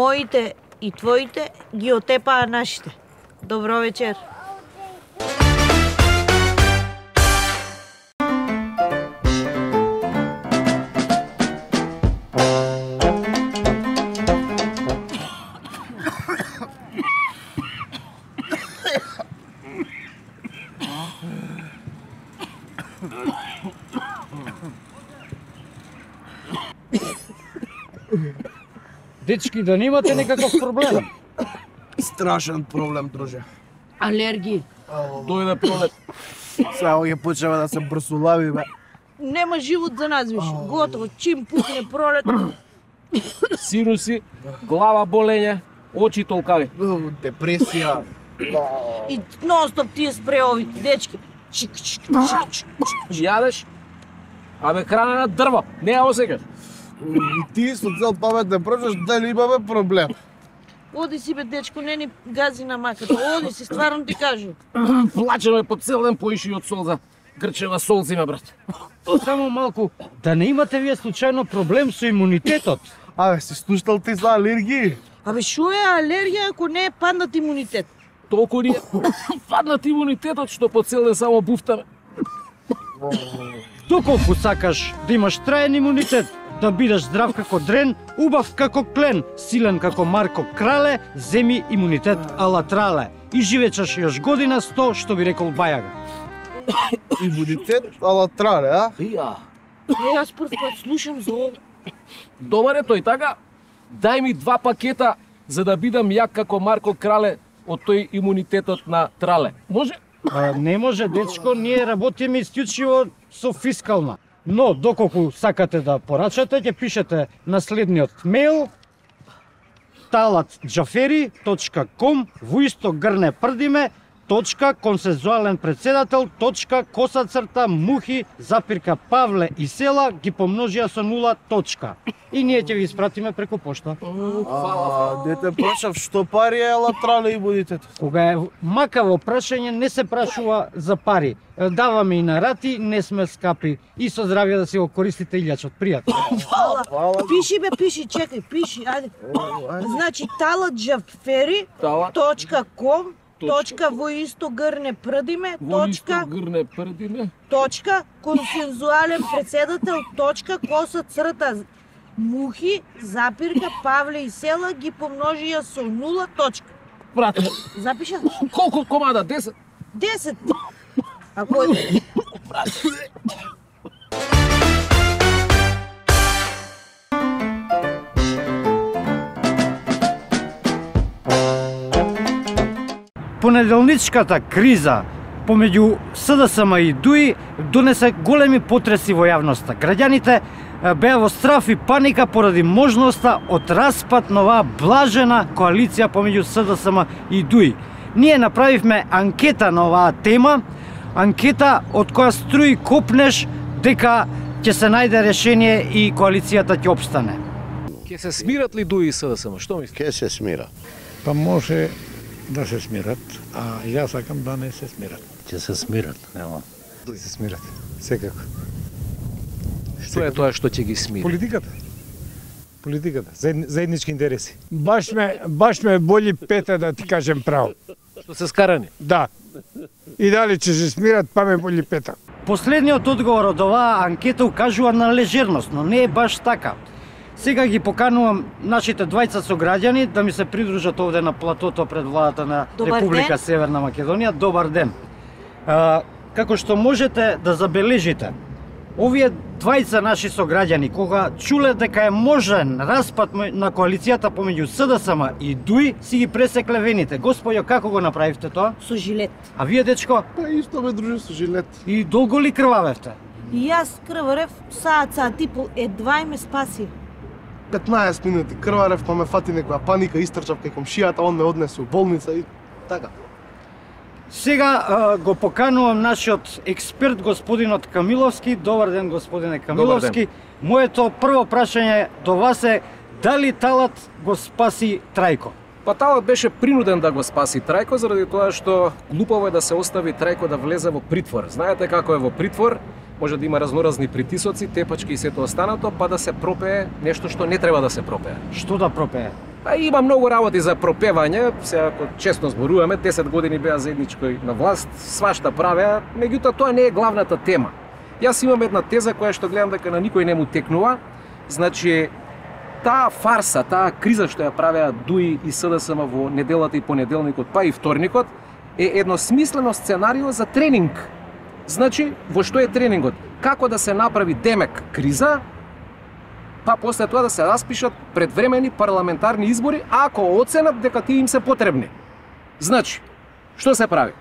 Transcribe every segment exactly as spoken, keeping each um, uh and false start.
моите и твоите ги отепаа нашите. Добро вечер. Дечки, да немате некаков проблем? Страшен проблем, друже. Алергии. Дојде пролет. Сега ќе почнеме да се брсулави, бе. Нема живот за нас више. Готово, чим пукне пролет. Сируси, глава болење, очи толкави. Депресија. И нон-стоп тие спреови, дечки. Чик, чик, чик, чик, чик. Јадеш? Абе храна на дрво, не ја осекаш. И ти со цел памет да прочаш дали имаме проблем. Оди си бе, дечко, не ни гази на маката. Оди си, стварно ти кажу. Плачеме по цел ден поиши од солза. Грчева сол зима, брат. Само малку, да не имате вие случајно проблем со имунитетот? Абе, си слушнал ти за алергии? Абе, шо е алергија ако не е паднат имунитет? Толку ни е паднат имунитетот што по цел ден само буфтаме. Доколку сакаш да имаш траен имунитет, да бидеш здрав како дрен, убав како клен, силен како Марко Крале, земи имунитет ала трале. И живееш још година сто, што би рекол Бајага. Имунитет ала трале, а? Ја. Е, јас прв пат слушам за ова. Добар е тој, така? Дај ми два пакета за да бидам јак како Марко Крале од тој имунитетот на трале. Може? А, не може, дечко, ние работиме исклучиво со фискална. Но, доколку сакате да порачате, ќе пишете на следниот мејл талат џафери точка ком во исто грне прдиме точка консензуален председател точка коса црта мухи запирка Павле и села ги помножија со нула точка. И ние ќе ви испратиме преку пошта. А, дете прашав што пари е ала трале имунитет. Кога е макаво прашање, не се прашува за пари. Даваме и на рати, не сме скапи. И со здравје да си го користите илјачот. Пријатно. Пиши бе, пиши, чекај, пиши, ајде. Значи, талат џафери точка ком точка во исто грне прдиме Во исто точка грне прдиме. точка консензуален председател точка коса црта мухи запирка Павле и села ги помножија со нула точка. Брат, Запиша? колку комада? десет? десет. Ако е... Понеделничката криза помеѓу СДСМ и ДУИ донесе големи потреси во јавноста. Граѓаните беа во страф и паника поради можноста од распад на оваа блажена коалиција помеѓу СДСМ и ДУИ. Ние направивме анкета на оваа тема, анкета од која струи копнеш дека ќе се најде решение и коалицијата ќе опстане. Ке се смират ли ДУИ и СДСМ? Што мислиш? Ке се смира. Па може да се смират, а јас сакам да не се смират. Ќе се смират, нема. Да се смират, секако. Што е тоа што ќе ги смири? Политиката. Политиката, заеднички интереси. Баш ме, баш ме боли пета да ти кажем право. Што се скарани? Да. И дали ќе се смират, па ме боли пета. Последниот одговор од оваа анкета укажува на лежерност, но не е баш така. Сега ги поканувам нашите двајца сограѓани да ми се придружат овде на платото пред владата на Добар Република ден. Северна Македонија. Добар ден. А, како што можете да забележите, овие двајца наши сограѓани, кога чуле дека е можен распад на коалицијата помеѓу СДСМ и ДУИ, си ги пресекле вените. Господјо, како го направивте тоа? Со жилет. А вие, дечко? Па исто ме дружи со жилет. И долго ли крвавевте? И јас крварев, саат, саат и пол, едва и ме спаси. петнаесет минути крварев, па ме фати некоја паника, истрчав кај комшијата, он ме однесе у болница и така. Сега а, го поканувам нашиот експерт, господинот Камиловски. Добар ден, господине Камиловски. Моето прво прашање до вас е дали талат го спаси Трајко? Па талат беше принуден да го спаси Трајко заради тоа што глупаво е да се остави Трајко да влезе во притвор. Знаете како е во притвор? Може да има разноразни притисоци, тепачки и сето останато, па да се пропее нешто што не треба да се пропее. Што да пропее? А има многу работи за пропевање, сега ако честно зборуваме, десет години беа заедничко на власт, свашта правеа, меѓутоа тоа не е главната тема. Јас имам една теза која што гледам дека на никој не му текнува, значи таа фарса, таа криза што ја правеа ДУИ и СДСМ во неделата и понеделникот, па и вторникот, е едно смислено сценарио за тренинг. Значи, во што е тренингот? Како да се направи демек криза, па после тоа да се распишат предвремени парламентарни избори, ако оценат дека тие им се потребни. Значи, што се прави?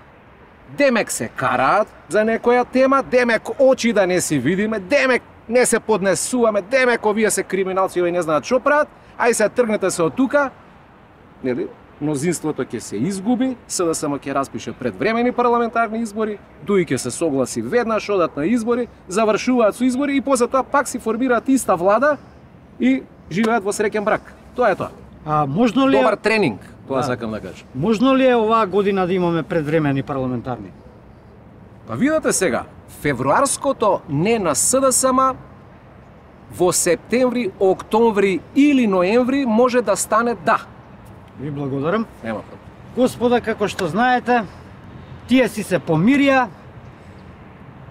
Демек се караат за некоја тема, демек очи да не си видиме, демек не се поднесуваме, демек овие се криминалци и не знаат што прават, ај се тргнете се од тука, нели? Мнозинството ќе се изгуби, СДСМ ќе распише предвремени парламентарни избори, ДУИ ќе се согласи веднаш, одат на избори, завршуваат со избори и после тоа пак си формираат иста влада и живеат во среќен брак. Тоа е тоа. А можно ли е... Добар тренинг, тоа Да. сакам да кажам. Можно ли е оваа година да имаме предвремени парламентарни? Па видете сега, февруарското не на СДСМ во септември, октомври или ноември може да стане да. Ви благодарам. Нема проблем. Господа, како што знаете, тие си се помирија,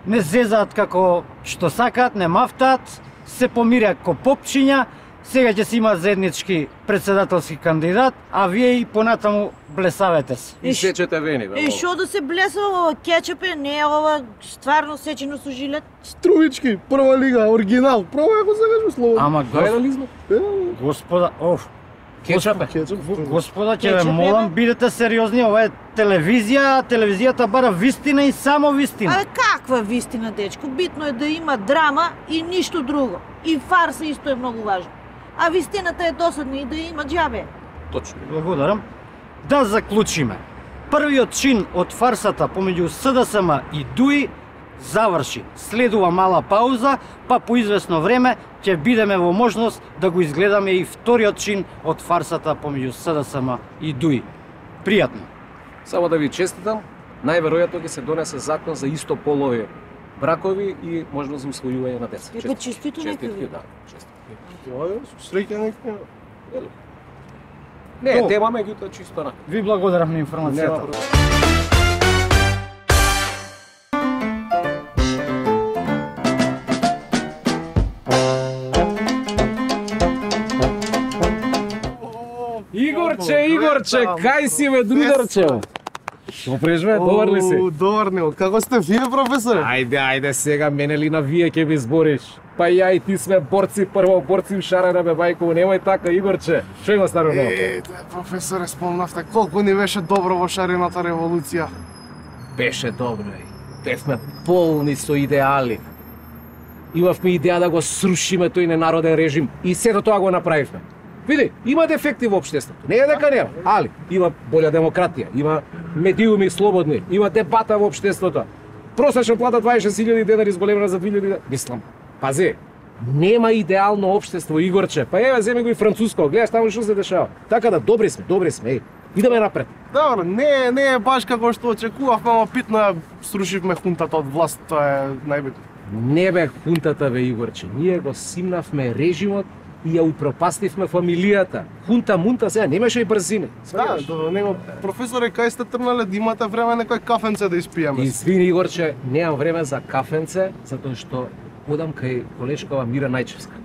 не зезаат како што сакаат, не мафтаат, се помирија ко попчиња, сега ќе си имаат заеднички председателски кандидат, а вие и понатаму блесавете се. И сечете вени, бе. Е, молам. што да се блесува ова кетчуп е, не е ова стварно сечено со жилет? Струвички, прва лига, оригинал. Пробај ако сакаш слободно. Ама Гај гос... дали сме? господа, оф, Кетчуп е. Кетчуп. господа, ќе Кетчуп ве е, молам, бе? бидете сериозни, ова е телевизија, а телевизијата бара вистина и само вистина. Абе, каква вистина, дечко? Битно е да има драма и ништо друго. И фарса исто е многу важно. А вистината е досадна и да има џабе. Точно. Благодарам. Да заклучиме. Првиот чин од фарсата помеѓу СДСМ и ДУИ заврши. Следува мала пауза, па по известно време ќе бидеме во можност да го изгледаме и вториот чин од фарсата помеѓу СДСМ и ДУИ. Пријатно. Само да ви честитам, најверојатно ќе се донесе закон за истополови бракови и можност за усвојување на деца. Е, па честито нека Честитки, ви. да. Честитки. Тоа е, со среќа нека. Не е То. тема, меѓутоа чисто на. Ви благодарам на Нема информацијата. проблем. Игорче, Игорче, кај си бе, другарче? Што прежве, добар ли си? О, добар не, како сте вие, професоре? Ајде, ајде сега, мене ли на вие ќе ви збориш? Па ја и ти сме борци, прво борци в шарена бе бајко, немој така, Игорче. Што има старо ново? Е, професоре, спомнавте колку ни беше добро во шарената револуција. Беше добро, е. Бевме полни со идеали. Имавме идеја да го срушиме тој ненароден режим и сето тоа го направивме. Види, има дефекти во општеството. Не е дека нема, али има болја демократија, има медиуми слободни, има дебата во општеството. Просечна плата дваесет и шест илјади денари зголемена за две илјади. Мислам, пази, нема идеално општество, Игорче. Па еве, земи го и француско, гледаш таму што се дешава. Така да добри сме, добри сме, еј. Идеме напред. Добро, не, не е баш како што очекувавме, ама питно е, срушивме хунтата од власт, тоа е најбитно. Не бе хунтата, бе, Игорче. Ние го симнавме режимот и ја упропастивме фамилијата. Хунта, мунта, сега немаше и брзини. Да, до него, професоре, кај сте тргнале да имате време некој кафенце да испиеме? Извини, Игорче, немам време за кафенце, затоа што одам кај колешкава Мира Најчевска.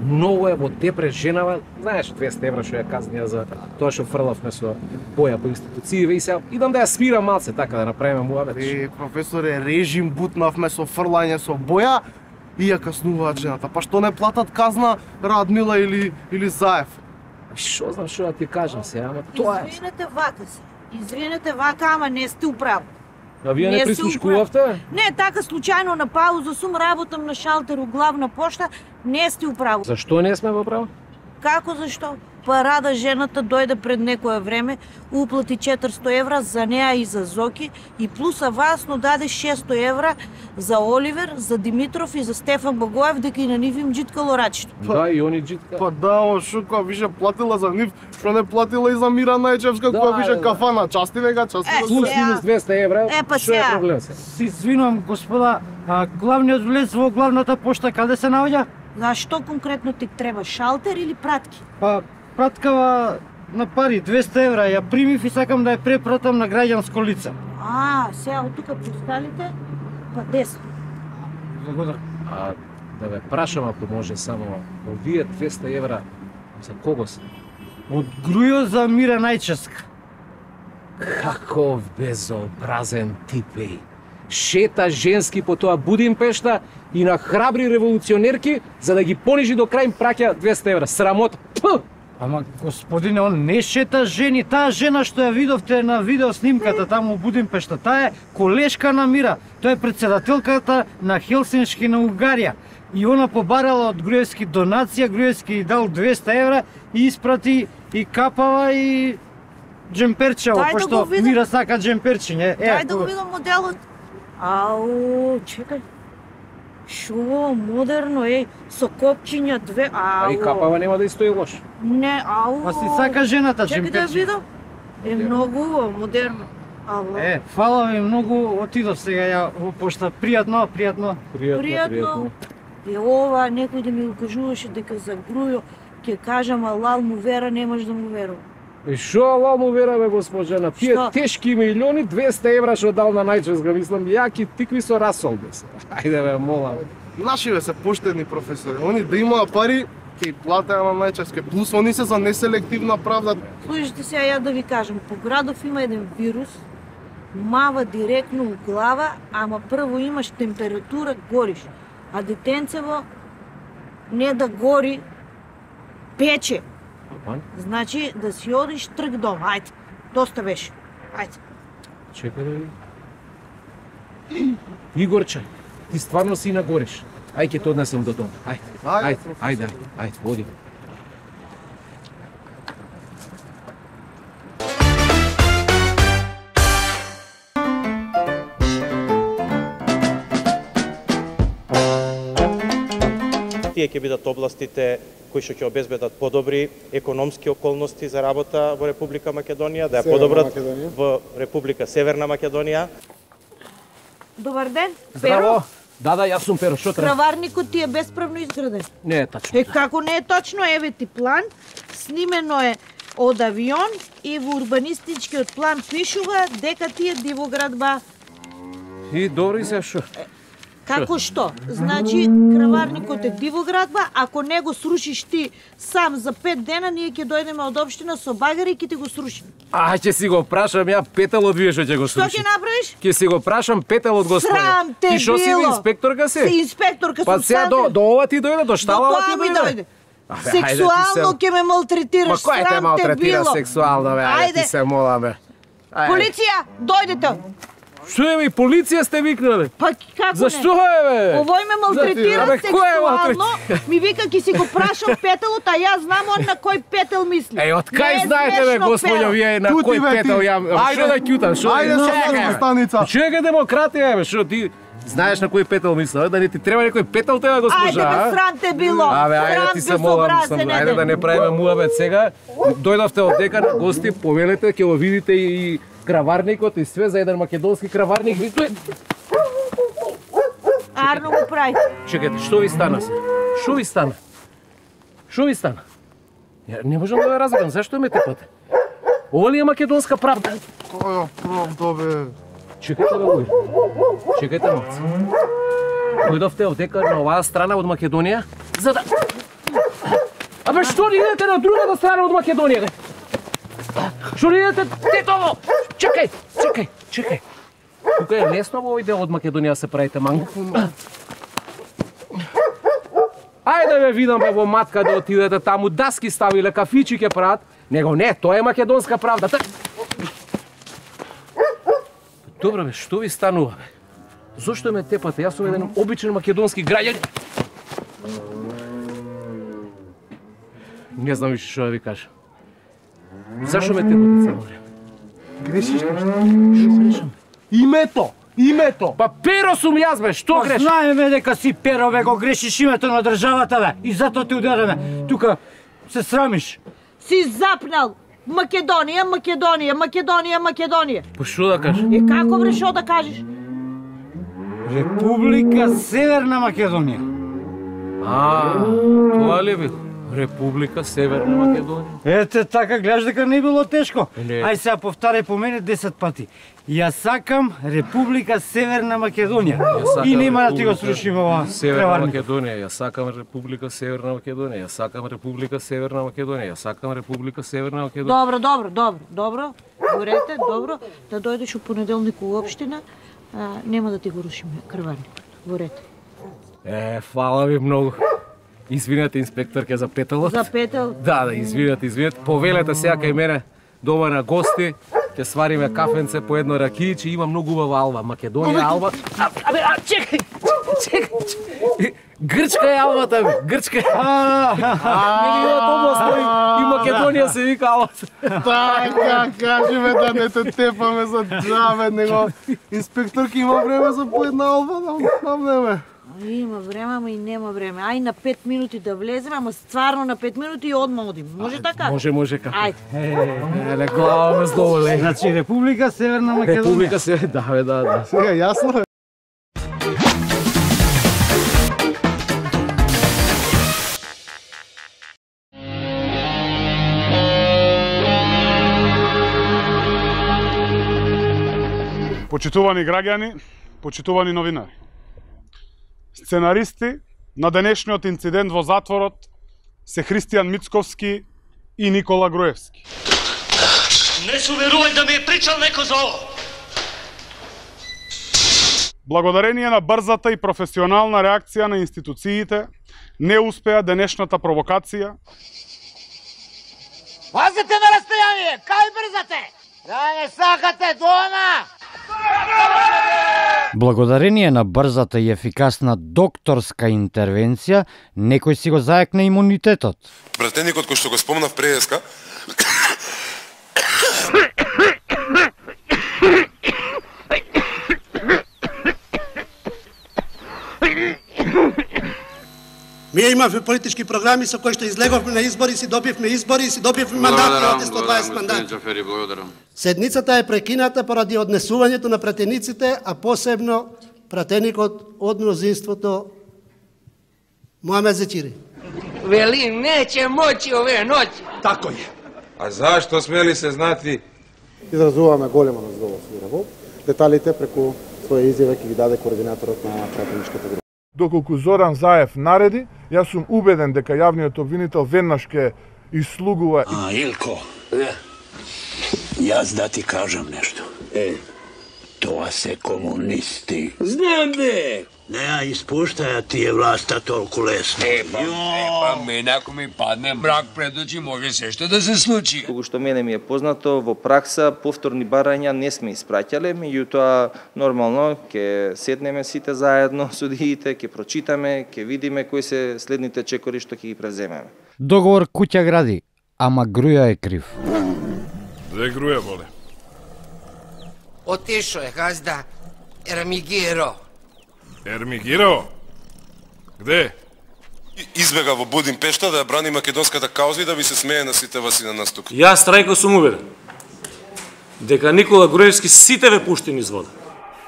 Многу е во депрес женава, знаеш, двесте евра што ја казнија за тоа што фрлавме со боја по институцииве и сега идам да ја смирам малце, така да направиме муабет. Е, професоре, режим бутнавме со фрлање со боја и ја каснуваат жената. Па што не платат казна Радмила или, или Заев? Што знам што да ти кажам сега, ама тоа е. Извинете вака се. Извинете вака, ама не сте управо. А вие не Не се прислушкувавте? Не, така случајно на пауза сум, работам на шалтер у главна пошта, не сте управо. Зашто не сме во право? Како зашто? Парада жената дојде пред некое време, уплати четиристо евра за неа и за Зоки и плюс авансно даде шестстотини евра за Оливер, за Димитров и за Стефан Богоев дека и на нив им джиткало рачето. Да, и они джитка. Па да, ама шо која више платила за нив, што не платила и за Мира Најчевска, Да, која више да. кафана, части вега, части Е, да Плюс сега. минус двесте евра. Е, па што е сега. проблем се? Се извинувам, господа, а главниот влез во главната пошта каде се наоѓа? Зашто конкретно ти треба шалтер или пратки? Па, праткава на пари, двесте евра, ја примив и сакам да ја препратам на граѓанско лице. А, сега од тука посталите, па десно. Благодарам. А да ве прашам ако може само, овие двесте евра за кого се? Од Грујо за Мира Најческа. Каков безобразен тип е. Шета женски по тоа Будимпешта и на храбри револуционерки за да ги понижи до крај им праќа двесте евра. Срамот. Пу! Ама, господине, он не шета жени. Таа жена што ја видовте на видео снимката таму у Будимпешта, таа е колешка на Мира. Тоа е председателката на Хелсиншки на Угарија. И она побарала од Груевски донација, Груевски дал двесте евра и испрати и капава и джемперчево, Дај да пошто го видам. Мира сака джемперчиње. Дај да го видам моделот. Ау, чекај. Шо модерно е, со копчиња две. Ау. А и капава нема да и стои лош. Не, ау. Па си сака жената Чекај да ја джемперчиње. видам. Е многу убаво, модерно. Ало. Е, фала ви многу, отидов сега ја во пошта. Пријатно, пријатно. Пријатно. И ова некој да ми го кажуваше дека за Грујо ќе кажам, а лал му вера, немаш да му верувам. И шо ала му вераме, госпожена? Тие Што? тешки милиони, двесте евра што дал на Најческа, мислам, јаки тикви со расол бе се. Ајде бе, молам. Нашиве се поштени професори. Они да имаат пари, ќе платеа на Најчевска. Плюс они се за неселективна правда. Слушайте сега ја да ви кажам, по градов има еден вирус, мава директно у глава, ама прво имаш температура, гориш. А детенцево не да гори, пече. Апан? Значи да си одиш трг дом. Ајде, доста беше. Ајде. Чекај да видим. Игорче, ти стварно си нагориш. Ај ќе те однесем до дом. Ајде, Ајде, ајде, професор. ајде, ајде, води. Тие ќе бидат областите кои што ќе обезбедат подобри економски околности за работа во Република Македонија, да ја подобрат во Република Северна Македонија. Добар ден, Здраво. Да, да, јас сум Перо, што треба? Краварникот ти е bespravно изграден. Не е тачно. Е, како не е точно, еве ти план, снимено е од авион и во урбанистичкиот план пишува дека ти е дивоградба. И добри се шо? Како што? Значи, краварникот е дивоградба, ако не го срушиш ти сам за пет дена, ние ќе дојдеме од општина со багари и ќе ти го срушиме. А, ќе си го прашам ја Петелот вие што ќе го Што слуши. ќе направиш? Ќе си го прашам Петелот господа. Срам те Ти што си било. инспекторка Си си? инспекторка Па сум сега Сандра. до, до ова ти дојде, до До шталава тоа ти ми дојде. дојде. Абе, ајде ти Сексуално се- ќе ме малтретираш, Ма кој те срам те малтретира било. сексуално, бе? Ајде ти Ајде. се молам, бе. Ајде. Полиција, дојдете. Што е, бе, полиција сте викнале? Па како Зашто не? е, бе? Овој ме малтретира Абе, кој е сексуално, ми вика ќе си го прашам петелот, а јас знам он на кој петел мисли. Еј, од Не кај е знаете, бе, смешно, господјо, Перо. вие на Тути, кој бе, ти. петел ја... Ајде. Што да кјутам, што? Ајде на Чекај, следна бе. станица. Чекај демократија, бе, што ти знаеш на кој петел мисла, да не ти треба некој петел тебе, госпожа, Ајде бе, а? срам те било. Абе, ајде ти се молам, сам, ајде да не правиме муабет сега. Дојдовте од дека на гости, повелете, ќе го видите и краварникот и све за еден македонски краварник. Ви стои. Арно го прави. Чекайте, што ви стана? се? Што ви стана? Што ви стана? Ја не можам да ве разберам, зашто ме тепате? Ова ли е македонска правда? Која правда, бе? Чекайте, бе, луѓе. Чекайте малце. Дојдовте овдека на оваа страна од Македонија, за да... Абе, што не идете на другата страна од Македонија, бе? Што не идете тетово? Чекај, чекај, чекај. Тука е лесно во овој дел од Македонија се правите манго. Ајде бе, видам бе во матка да отидете таму, даски ставиле, кафичи ќе прават. Него не, тоа е македонска правда. Та... Добро бе, што ви станува бе? Зошто ме тепате? Јас сум еден обичен македонски граѓанин. Не знам више што да ви кажам. Зашо ме тепате цело време? Грешиш нешто? Што грешам? Името! Името! Па Перо сум јас бе, што Па грешам? знаеме дека си Перо, бе, го грешиш името на државата, бе. И затоа ти удареме. Тука се срамиш. Си запнал. Македонија, Македонија, Македонија, Македонија. Па што да кажам? Е како бре шо да кажеш? Република Северна Македонија. А, тоа ли бил? Република Северна Македонија. Ете така, гледаш дека не било тешко. Не. Ај сега повтарај по мене десет пати. Ја сакам Република Северна Македонија. И нема да ти го срушим ова Северна преварник. Македонија, ја сакам Република Северна Македонија, ја сакам Република Северна Македонија, ја сакам Република Северна Македонија. Добро, добро, добро, добро. Говорете, добро. Да дојдеш у понеделник у општина, а, нема да ти го рушиме крварникот. Говорете. Е, фала ви многу. Извинете, инспектор, ке запеталот. За петел. Да, да, извинете, извинете. Повелете сега кај мене дома на гости. Ќе свариме кафенце по едно ракијче, има многу убава алба, Македонија алба. А, абе, а, чекај, чекај, чекај. Грчка е албата, бе, грчка е. Милиот област и Македонија се вика албата. Така, кажеме да не те тепаме за џабе, него инспекторки има време за по една алба, нам неме. Има време, ама и нема време. Ај на пет минути да влеземе, ама стварно на пет минути и одма одим. Може така? Може, може како. Ајде. Еле, глава ме здоволе. Значи Република Северна Македонија. Република се, да, бе, да, да. Сега јасно е. Почитувани граѓани, почитувани новинари. Сценаристи на денешниот инцидент во затворот се Христијан Мицковски и Никола Груевски. Не се уверувај да ми е причал некој за ово. Благодарение на брзата и професионална реакција на институциите, не успеа денешната провокација. Пазете на расстојание, кај брзате? Да не сакате дома! Благодарение на брзата и ефикасна докторска интервенција, некој си го заекна имунитетот. Пратеникот кој што го спомнав преска, Ние имавме политички програми со кои што излеговме на избори, си добивме избори, си добивме мандати, оде сто дваесет мандати. Седницата е прекината поради однесувањето на пратениците, а посебно пратеникот од мнозинството Моамед Зечири. Вели, неće moći ove noći. Тако е. А зашто смели се знати? Изразуваме големо незадоволство. Деталите преку своја изјава ќе ги даде координаторот на пратеничката група. Доколку Зоран Заев нареди, јас сум убеден дека јавниот обвинител веднаш ќе ислугува. А, Илко, јас да ти кажам нешто. Е, тоа се комунисти. Знам бе! Не, испуштаја ти е власта толку лесно. Е, па, е, па мене ако ми падне мрак пред очи, може се што да се случи. Колку што мене ми е познато, во пракса повторни барања не сме испраќале, меѓутоа нормално ќе седнеме сите заедно судиите, ќе прочитаме, ќе видиме кои се следните чекори што ќе ги превземеме. Договор куќа гради, ама Груја е крив. Две Груја воле. Отишо е газда Ермигиро. Ермигиро? Где? избега во Будимпешта да ја брани македонската кауза и да ви се смее на сите вас и на нас тука. Јас трајко сум уверен дека Никола Груевски сите ве пушти низ вода.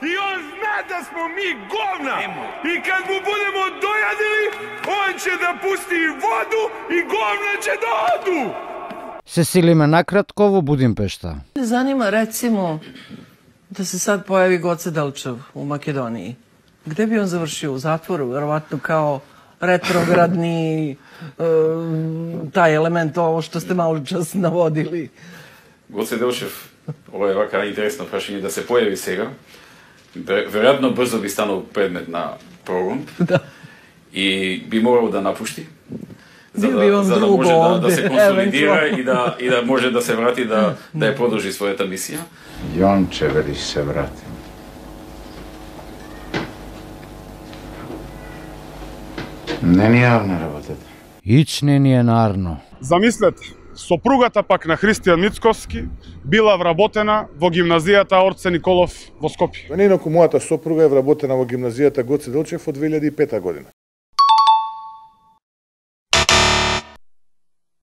И он зна да смо ми govna. И kad му будемо дојадили, он ќе да пусти и воду и govna ќе да оду. Се силиме накратко во Будимпешта. Не занима рецимо да се сад појави Гоце Делчев у Македонiji. Где би он завршил? У затвору, веројатно као ретроградни тај елемент ово што сте малку час наводили. Гоце Делчев, ова е вака интересно прашање да се појави сега. Веројатно брзо би станал предмет на прогон. Да. И би морал да напушти. За Би да, бивам за да друго може да, да овде, се консолидира евентуално. и да, и да може да се врати да, да ја продолжи својата мисија. Јонче, вели се врати. Не ни јавна работата. Ич не ни е нарно. Замислете, сопругата пак на Христијан Мицковски била вработена во гимназијата Орце Николов во Скопје. Неинаку мојата сопруга е вработена во гимназијата Гоце Делчев од две илјади и пета година.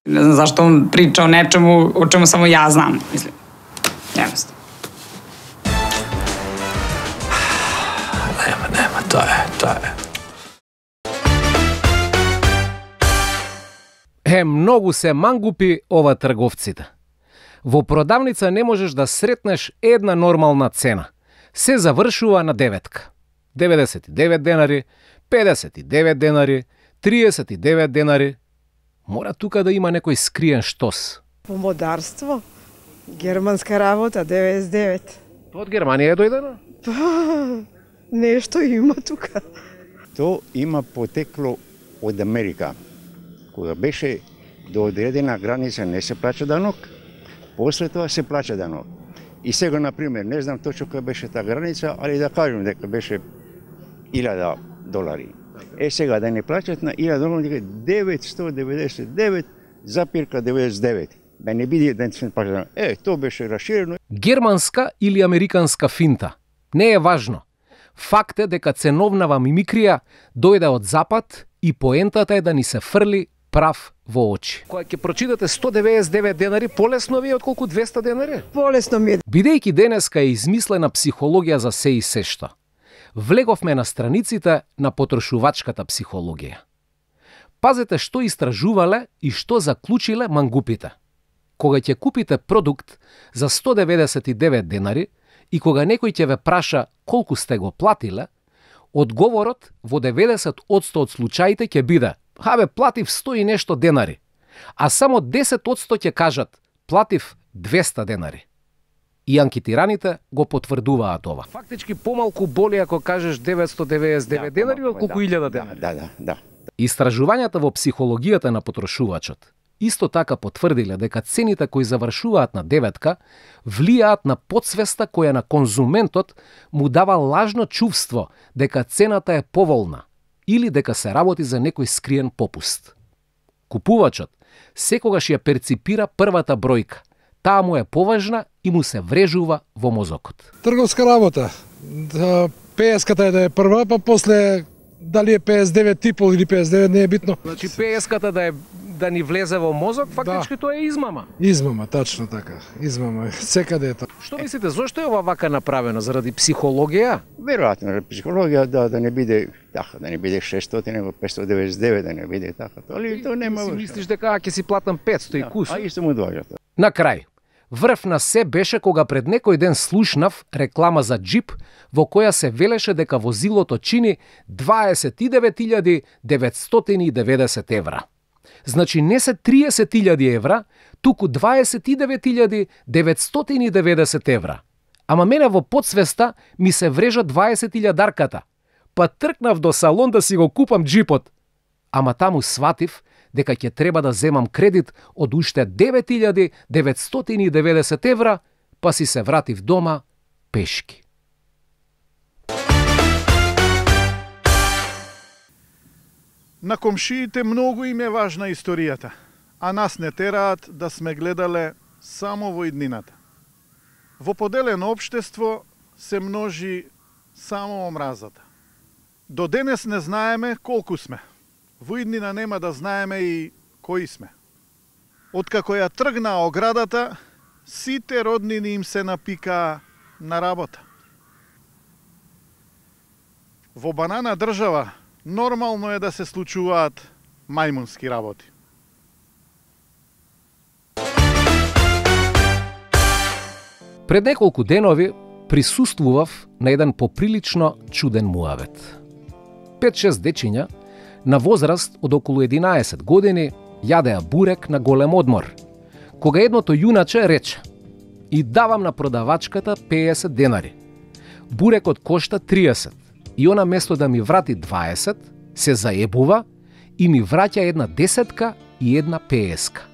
Не знам зашто он priča o nečemu o čemu samo ja znam, mislim. Jednostavno. Nema, nema, to je, to je. Е, многу се мангупи ова трговците. Во продавница не можеш да сретнеш една нормална цена. Се завршува на деветка. деветдесет и девет денари, педесет и девет денари, триесет и девет денари. Мора тука да има некој скриен штос. Помодарство, германска работа, деветдесет и девет. Тоа од Германија е дојдено? Па, нешто има тука. То има потекло од Америка. Кога беше до одредена граница не се плаќа данок, после тоа се плаќа данок. И сега, например, не знам точно која беше таа граница, али да кажем дека беше илјада долари. Е, сега да не плаќат на илјада долари, дека деветстотини деветдесет и девет запирка деветдесет и девет. Да не биде да не се плаќа. Е, тоа беше расширено. Германска или американска финта? Не е важно. Факт е дека ценовнава мимикрија дојде од запад и поентата е да ни се фрли прав во очи. Кога ќе прочитате сто деветдесет и девет денари, полесно ви е отколку двеста денари? Полесно ми е. Бидејќи денеска е измислена психологија за се и се што, влеговме на страниците на потрошувачката психологија. Пазете што истражувале и што заклучиле мангупите. Кога ќе купите продукт за сто деветдесет и девет денари и кога некој ќе ве праша колку сте го платиле, одговорот во деветдесет одсто од случаите ќе биде: "Абе, платив сто и нешто денари." А само десет одсто ќе кажат: "Платив двеста денари." И анкетираните го потврдуваат ова. Фактички помалку боли ако кажеш деветстотини деветдесет и девет да, денари отколку илјада денари. Да, да, да. Истражувањата во психологијата на потрошувачот исто така потврдиле дека цените кои завршуваат на деветка влијаат на подсвеста која на конзументот му дава лажно чувство дека цената е поволна или дека се работи за некој скриен попуст. Купувачот секогаш ја перципира првата бројка. Таа му е поважна и му се врежува во мозокот. Трговска работа. пееската е да е прва, па после дали е педесет и девет и пол или педесет и девет не е битно. Значи пееската да е да ни влезе во мозок, фактички да. Тоа е измама. Измама, тачно така. Измама, секаде е тоа. Што мислите, зошто е ова вака направено? Заради психологија? Веројатно, психологија да да не биде така, да не биде шестстотини, него петстотини деветдесет и девет, да не биде така. Али тоа нема. Си мислиш дека ќе си платам петстотини да, кус? А исто му доаѓа тоа. На крај, врв на се беше кога пред некој ден слушнав реклама за джип во која се велеше дека возилото чини дваесет и девет илјади деветстотини и деветдесет евра. Значи не се триесет илјади евра, туку дваесет и девет илјади деветстотини и деветдесет евра. Ама мене во подсвеста ми се врежа дваесет илјадарката. Па тркнав до салон да си го купам джипот. Ама таму сватив дека ќе треба да земам кредит од уште девет илјади деветстотини и деветдесет евра, па си се вратив дома пешки. На комшиите многу им е важна историјата, а нас не тераат да сме гледале само во иднината. Во поделено општество се множи само омразата. До денес не знаеме колку сме. Во иднина нема да знаеме и кои сме. Откако ја тргна оградата, сите роднини им се напикаа на работа. Во банана држава нормално е да се случуваат мајмунски работи. Пред неколку денови присуствував на еден поприлично чуден муавет. пет-шест дечиња на возраст од околу единаесет години јадеа бурек на голем одмор, кога едното јуначе рече: "И давам на продавачката педесет денари. Бурекот кошта триесет. И она место да ми врати дваесет, се заебува и ми враќа една десетка и една пееска.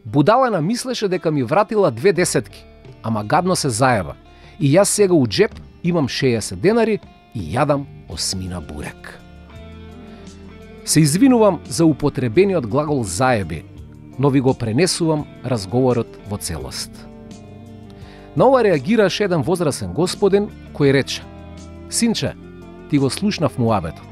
Будалана мислеше дека ми вратила две десетки, ама гадно се заеба. И јас сега у джеп имам шеесет денари и јадам осмина бурек." Се извинувам за употребениот глагол заеби, но ви го пренесувам разговорот во целост. На ова реагираше еден возрасен господин кој рече: "Синче, ти го слушнав муабетот.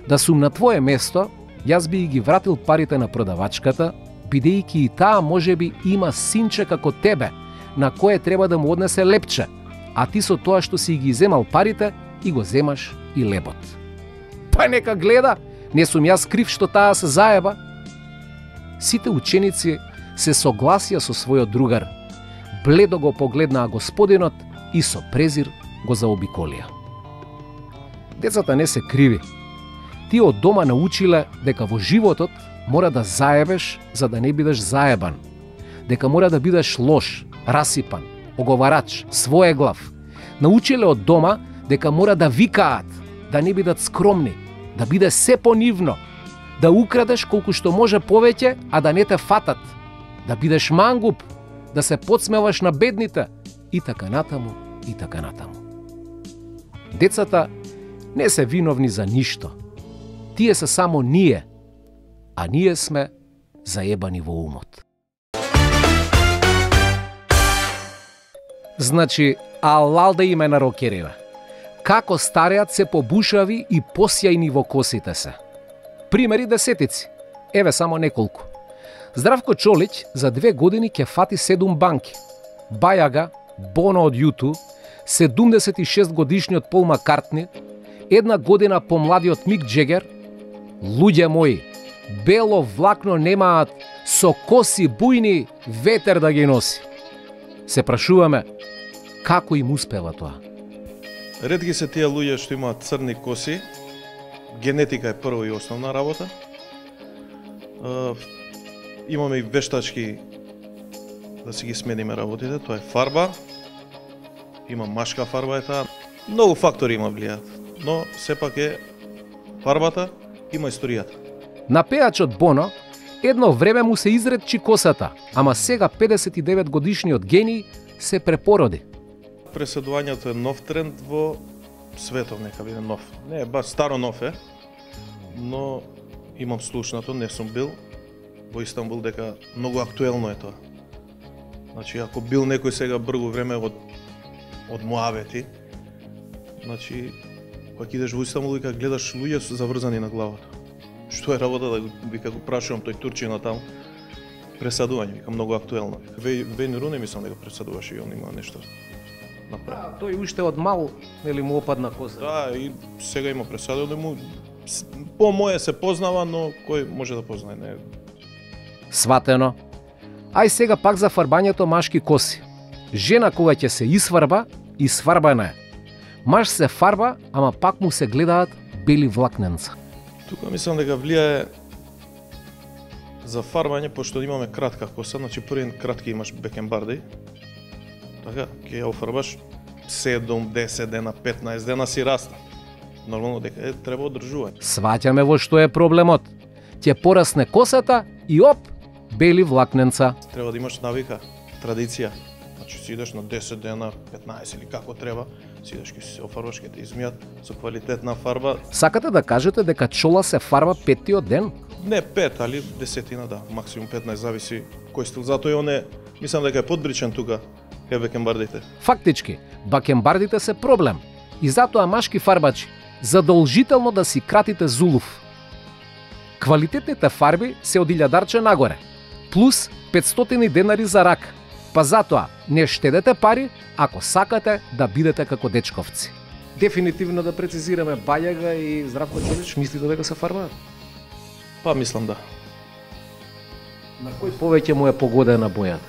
Да сум на твое место, јас би ги вратил парите на продавачката, бидејќи и таа можеби има синче како тебе, на кое треба да му однесе лепче, а ти со тоа што си ги земал парите и го земаш и лебот. Па нека гледа, не сум јас крив што таа се заеба." Сите ученици се согласија со својот другар. Бледо го погледнаа господинот и со презир го заобиколија. Децата не се криви. Тие од дома научиле дека во животот мора да заебеш за да не бидеш заебан. Дека мора да бидеш лош, расипан, оговарач, своеглав. Научиле од дома дека мора да викаат, да не бидат скромни, да биде се понивно, да украдеш колку што може повеќе, а да не те фатат, да бидеш мангуп, да се подсмеваш на бедните и така натаму, и така натаму. Децата не се виновни за ништо. Тие се само ние, а ние сме заебани во умот. Значи, алал да име на рокереве. Како стареат се побушави и посјајни во косите се. Примери десетици. Еве само неколку. Здравко Чолич за две години ќе фати седум банки. Бајага, Боно од Юту, седумдесет и шест годишниот Пол Маккартни, една година помладиот Мик Джегер. Луѓе мои, бело влакно немаат, со коси бујни ветер да ги носи. Се прашуваме, како им успева тоа? Ретки се тие луѓе што имаат црни коси. Генетика е прво и основна работа. Uh, имаме и вештачки да си ги смениме работите, тоа е фарба. Има машка фарба е таа. Многу фактори има влијаат, но сепак е фарбата, има историјата. На пејачот Боно едно време му се изредчи косата, ама сега педесет и девет годишниот гений се препороди. Преседувањето е нов тренд во светот, нека биде нов. Не е баш старо нов е, но имам слушнато, не сум бил во Истанбул дека многу актуелно е тоа. Значи, ако бил некој сега бргу време од од муавети, значи, кога идеш во Истанбул и кога гледаш луѓе заврзани на главата. Што е работа да вика го прашувам тој турчина таму, пресадување, вика многу актуелно. Вејн Руни мислам дека пресадуваше и он има нешто направи. Да, тој уште од мал, нели му опадна коза. Да, и сега има пресадување, му по моје се познава, но кој може да познае, не. Сватено. Ај сега пак за фарбањето машки коси. Жена кога ќе се исфарба, исфарбана е. Маж се фарба, ама пак му се гледаат бели влакненца. Тука мислам дека влијае за фарбање, пошто имаме кратка коса, значи првен кратки имаш бекенбарди, така, ќе ја офарбаш седум, десет дена, петнаесет дена си раста. Нормално дека е, треба одржување. Сваќаме во што е проблемот. Ќе порасне косата и оп, бели влакненца. Треба да имаш навика, традиција. Значи си идеш на десет дена, петнаесет или како треба, си идеш ке се офарбаш, ке те измијат со квалитетна фарба. Сакате да кажете дека чола се фарба петтиот ден? Не пет, али десетина, да, максимум петнаесет, зависи кој стил. Затоа и он е, мислам дека е подбричен тука, кај бакенбардите. Фактички, бакенбардите се проблем. И затоа машки фарбачи задолжително да си кратите зулув. Квалитетните фарби се од илјадарче нагоре, плюс петстотини денари за рак. Па затоа не штедете пари ако сакате да бидете како дечковци. Дефинитивно да прецизираме, Бајага и Здравко Чолич мислите дека се фарбаат? Па мислам да. На кој повеќе му е погодена бојата?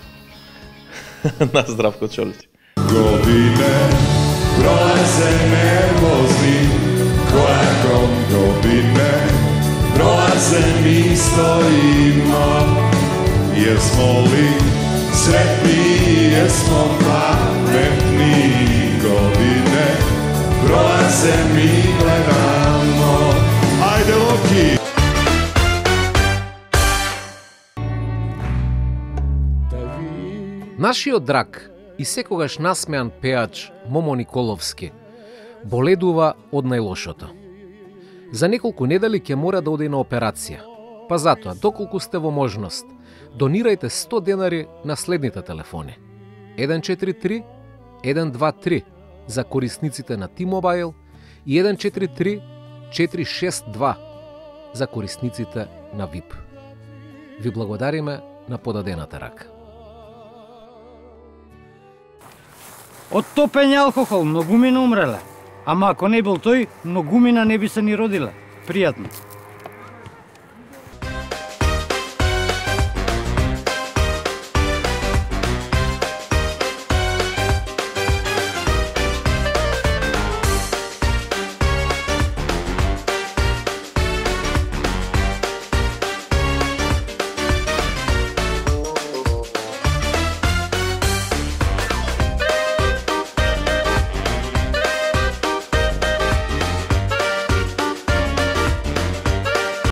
На Здравко Чолич. Godine prolaze nervozni, kojakom godine prolaze mi stojimo, jesmo li sretni, jesmo pametni, godine prolaze mi gledamo, ajde Loki. Нашиот драг и секогаш насмеан пеач Момо Николовски боледува од најлошото. За неколку недели ќе мора да оди на операција. Па затоа, доколку сте во можност, донирајте сто денари на следните телефони. еден четири три еден два три за корисниците на T-Mobile и еден четири три четири шест два за корисниците на ви ай пи. Ви благодариме на подадената рака. Од топење алкохол многумина умреле. Ама ако не бил тој, многумина не би се ни родиле. Пријатно.